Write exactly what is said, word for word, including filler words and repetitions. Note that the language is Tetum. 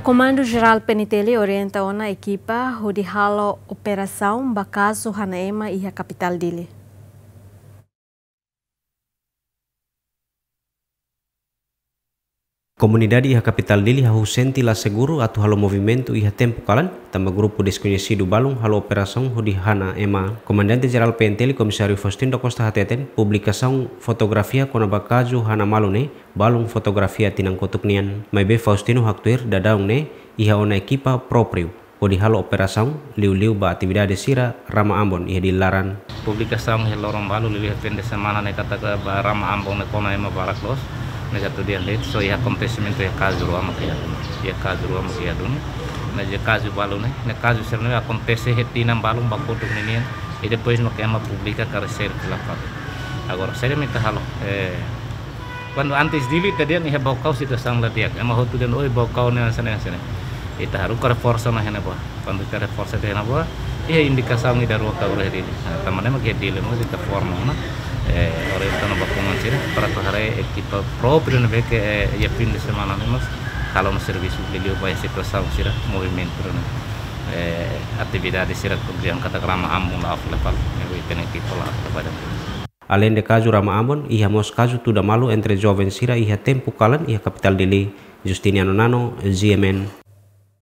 Komandu Jerál P N T L orienta ona ekipa hodi halo operasaun ba kazu hana ema iha kapitál Dili. Komunidade iha kapitál Dili hahú sente la seguru atu halo movimentu iha tempu kalan, tanba grupu deskoñesidu balun halo operasaun hodi hana ema. Komandante Jerál P N T L Komisáriu Faustino da Costa hateten, publikasaun fotografia kona-ba kazu hana malu ne'e balun fotografia tinan kotuk nian. Maibé Faustino haktuir daudaun ne'e iha ona ekipa própriu hodi halo operasaun, liuliu ba atividade sira rama Ambon iha Dili laran. Publikasaun iha loron balu, liuliu iha fin de semana ne'e katak ba rama Ambon ne'e kona ema barak loos. Ne'e atu dehan de'it, só iha akontesimentu iha kazu rua mak iha duni. Iha kazu rua mak iha duni. Ne'e iha kazu balu ne'e, ne'e kazu sira ne'e akontese iha tinan balun ba kotuk ninian. I depois mak ema publika karik sira fila fali. Agora, saida mak ita halo, eh, kuandu antes Dili ita dehan iha Baucau situasaun la di'ak. Ema hotu dehan, "Oi, Baucau ne'e hanesan ne'e, hanesan ne'e." Ita haruka reforsa ona iha ne'ebá. Kuandu ita reforsa iha ne'ebá, iha indikasaun ida rua ka agora iha Dili. Nah, tanba ne'e mak iha Dili mós ita forma ona, eh, orienta ona ba komandu sira, para atu haree ekipa própriu ne'ebé ke, eh, iha fin de semana ne'e mós halo ona servisu liuliu ba iha situasaun sira, movimentu ne'e, eh, atividade sira, kemudian katak rama Ambon la fila fali, ne'ebé ita-nia ekipa la fila fali. Aleinde kazu rama Ambon, iha mós kazu tuda malu entre joven sira iha tempu kalan iha kapitál Dili. Justiniano Nano, G M N.